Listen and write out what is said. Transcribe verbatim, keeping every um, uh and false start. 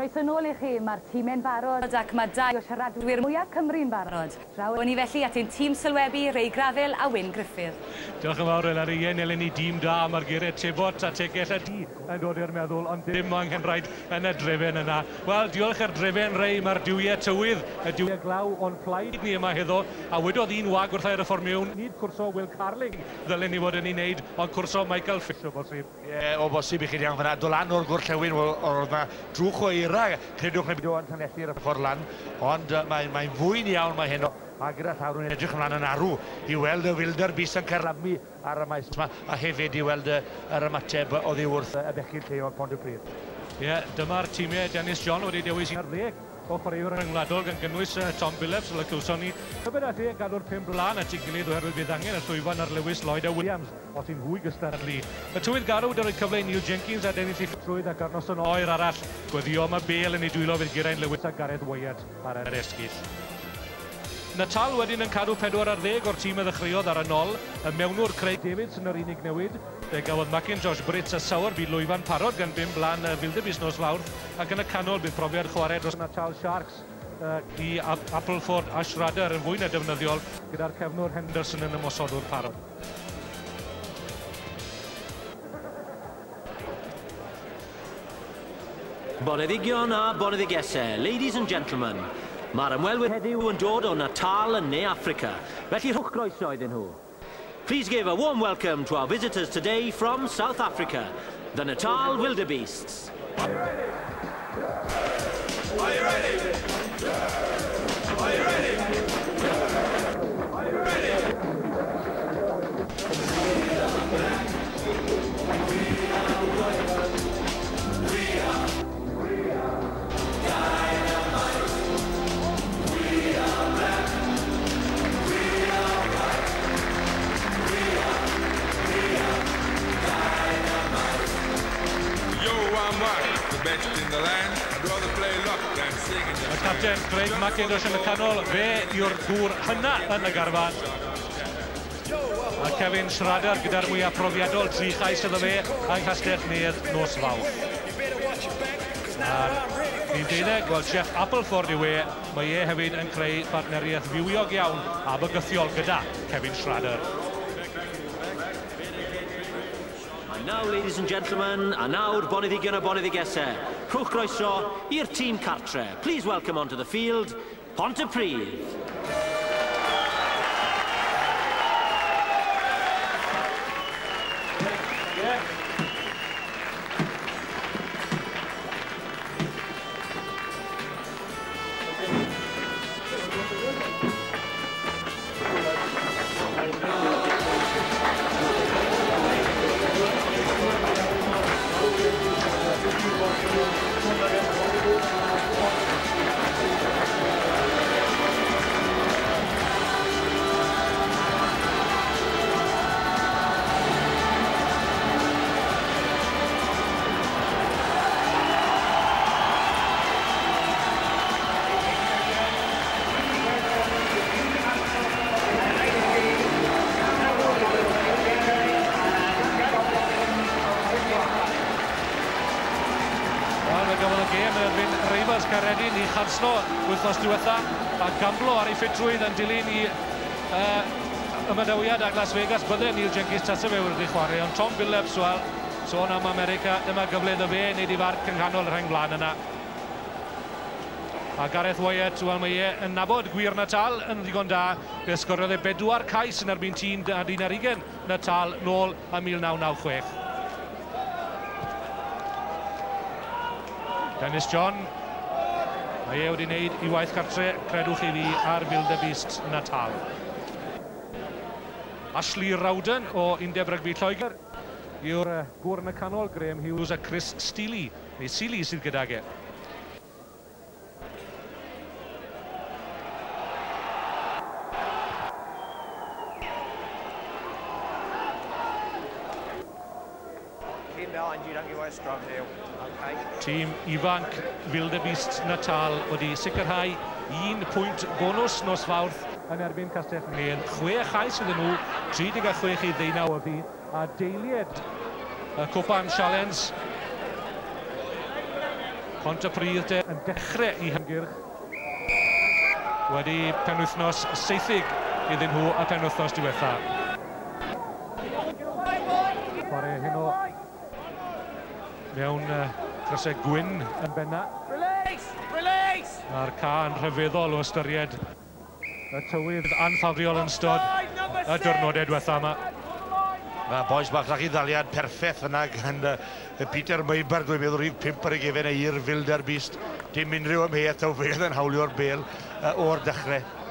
Croeso nôl i chi, mae'r tîmau'n barod ac mae dau o siaradwyr mwyaf Cymru'n barod. Draw ni felly at ein tîm sylwebu, Ray Gravell a Wyn Griffith. Diolch yn fawr, Eleri. Ie, eleni dîm da, mae'r geiriau Tebot a Tegell a Di yn dod i'r meddwl, ond dim anghenraid yn y drefen yna. Wel, diolch i'r drefen, Ray, mae'r duwiau tywydd, y duwiau glaw o'n plaid ni yma heddo, a wedodd un wag wrth i'r fformiwn, nid cwrso Will Carling ddylen ni fod yn ei wneud, ond cwrso Michael Fish o bosib. Ie, o bosib i chi iawn fyna. Dod lan o'r gorllewin, oedd yna drwch o eira, credwch neu beidio, yn Llanelli'r ffordd lan, ond uh, mae'n mae fwyn iawn mae heno, a gyda llaw nhw'n edrych ymlaen yn arw i weld y wildebeest yn carlamu ar y maes yma, a hefyd i weld yr ymateb oddi wrth y bechgyn lleol Pontypridd. Ie, yeah, dyma'r tîmau Dennis John wedi dewis un ar ddeg o chwaraewyr rhyngwladol gan gynnwys uh, Tom Billups, fel y clywson ni. Tybed all e gadw'r pum blaen at ei gilydd oherwydd bydd angen y llwyfan ar Lewis Lloyd a Williams os y'n hwy gystadlu. Y tywydd garw wedi rhoi cyfle i Neil Jenkins a Dennis Ffitrwydd ac ar noson oer arall. Gweddio am y bêl yn ei dwylo fydd Geraint Lewis a Gareth Wyatt ar yr esgyll. Natal wedyn yn cadw pedwar ar ddeg o'r tîm a ddechreuodd ar y nol. Y mewnwr Craig Davidson yr unig newid. Fe gafodd McIntosh, Brits a Sowerby lwyfan parod gan bum blaen Wildebeest nos Fawrth, ac yn y canol bydd profiad chwarae dros Natal Sharks uh, i Appleford a Schrader yn fwy na defnyddiol gyda'r cefnwr Henderson yn ymosodwr parod. Boneddigion a boneddigesau, ladies and gentlemen, mae'r ymwelwyr heddiw yn dod o Natal yn Ne Affrica, felly rhowch groeso iddyn nhw. Please give a warm welcome to our visitors today from South Africa, the Natal Wildebeests. Are you ready? Are you ready? Are you ready? Are you ready? We are, we are dynamite. We are black. We are white. We are, we are dynamite. Yo, I'm Mark, the best in the land. I'd rather play luck than sing in the Y capten Craig McIntosh yn y canol, fe yw'r gŵr hynna yn y garfan. A Kevin Schrader gyda'r mwyaf profiadol, tri chais iddo fe yng Nghastell Nedd nos Fawrth. A'r un deuddeg, wel Jeff Appleford yw e, mae e hefyd yn creu partneriaeth fywiog iawn a bygythiol gyda Kevin Schrader. And now, ladies and gentlemen, a nawr boneddigion a boneddigesau, rhowch groeso i'r tîm cartre. Please welcome onto the field, Pontypridd. Caeredin i chanslo wythnos diwetha a gamblo ar ei ffitrwydd yn dilyn i uh, ymadawiad ag Las Vegas. Bydde Neil Jenkins tase fe wedi chwarae, ond Tom Billups, wel, sôn am America, dyma gyfle iddo fe wneud i farc yng nghanol y rheng flaen yna. A Gareth Wyatt, wel, mae e yn nabod gwir Natal yn ddigon da. Fe sgoriodd e bedwar cais yn erbyn tîm un ar ugain Natal nôl ym mil naw naw chwech. Dennis John, mae e wedi wneud i waith cartre, credwch chi fi, ar Wildebeest Natal. Ashley Rowden o Undeb Rygbi Lloegr yw'r gŵr yn y canol, Graham Hughes a Chris Steely, neu Seeley sydd gydag e. Tîm ifanc Wildebeest Natal wedi sicrhau un pwynt bonws nos Fawrth yn erbyn Castell Nedd. Chwe chais iddyn nhw, tri deg a chwech i ddeunaw oddi, a deiliad y Cwpan Challenge. Pontypridd de yn dechrau eu hymgyrch wedi penwythnos seithug iddyn nhw y penwythnos diwetha. Chwarae heno mewn uh, crysau gwyn yn benna. Release! Release! Mae'r cae yn rhyfeddol o ystyried y tywydd anffafriol yn ystod y diwrnodau diwetha yma. Mae bois bach lach i ddaliad perffaith yna gan uh, Peter Myburgh, dwi'n meddwl rhif pump ar ei gefen e i'r Wildebeest. Dim unrhyw amheuaeth taw fe oedd yn hawlio'r bêl uh, o'r dechrau.